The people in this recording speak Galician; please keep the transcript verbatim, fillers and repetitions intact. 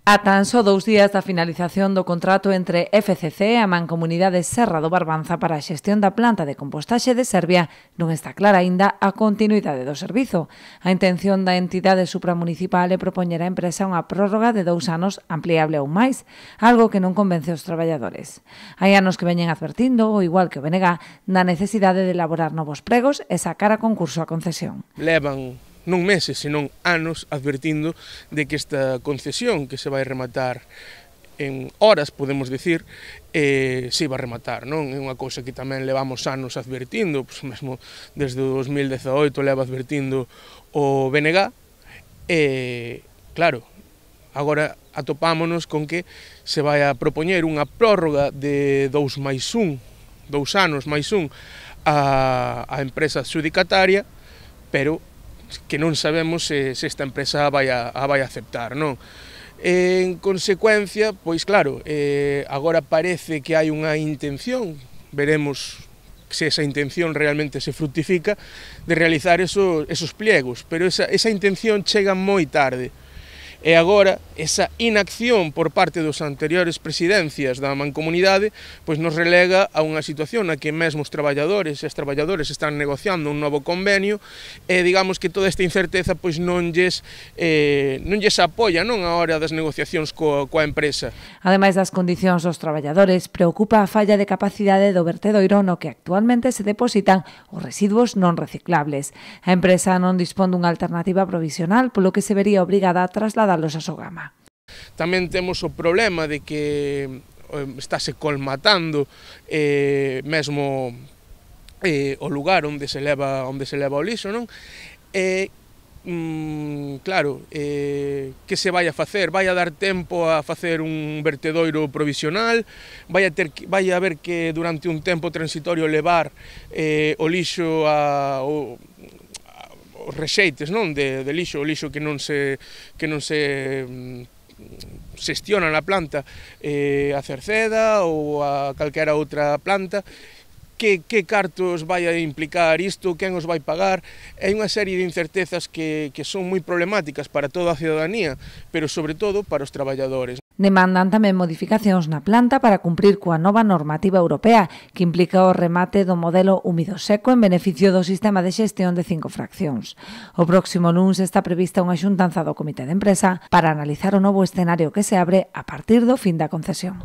A tan só dous días da finalización do contrato entre F C C e a Mancomunidade Serra do Barbanza para a xestión da planta de compostaxe de Serbia, non está clara aínda a continuidade do servizo. A intención da entidade supramunicipal é propoñer á empresa unha prórroga de dous anos ampliable aún máis, algo que non convence os traballadores. Hai anos que veñen advertindo, ou igual que o B N G, da necesidade de elaborar novos pregos e sacar a concurso a concesión. Levan non meses, senón anos advertindo de que esta concesión que se vai rematar en horas, podemos dicir, eh, se iba a rematar, non? É unha cousa que tamén levamos anos advertindo, pois mesmo desde o dos mil dezaoito leva advertindo o B N G, e claro, agora atopámonos con que se vai a propoñer unha prórroga de dous máis un, dous anos máis un, a, a empresa adxudicataria, pero que non sabemos se, se esta empresa vai a, a vai a aceptar, non? En consecuencia, pois claro, eh, agora parece que hai unha intención, veremos se esa intención realmente se fructifica, de realizar esos, esos pliegos, pero esa, esa intención chega moi tarde. E agora, esa inacción por parte dos anteriores presidencias da Mancomunidade pois nos relega a unha situación na que mesmo os traballadores e as traballadores están negociando un novo convenio e digamos que toda esta incerteza pois non lles, eh, non lles apoia non a hora das negociacións coa, coa empresa. Ademais das condicións dos traballadores, preocupa a falla de capacidade do vertedoiro no que actualmente se depositan os residuos non reciclables. A empresa non dispón dunha alternativa provisional, polo que se vería obrigada a trasladar a Sogama. Tamén temos o problema de que estáse colmatando eh, mesmo eh, o lugar onde se leva onde se leva o lixo, non? E mm, claro, eh, que se vai a facer? Vai a dar tempo a facer un vertedoiro provisional? Vai a ter vai a haber que durante un tempo transitorio levar eh, o lixo a o, os rexeites, non, de, de lixo, o lixo que non se que non se mm, xestiona na planta eh, a Cerceda ou a calquera outra planta. Que, que cartos vai a implicar isto, quen os vai pagar? Hai unha serie de incertezas que, que son moi problemáticas para toda a ciudadanía, pero sobre todo para os traballadores. Demandan tamén modificacións na planta para cumprir coa nova normativa europea que implica o remate do modelo húmido seco en beneficio do sistema de xestión de cinco fraccións. O próximo luns está prevista unha xuntanza do Comité de Empresa para analizar o novo escenario que se abre a partir do fin da concesión.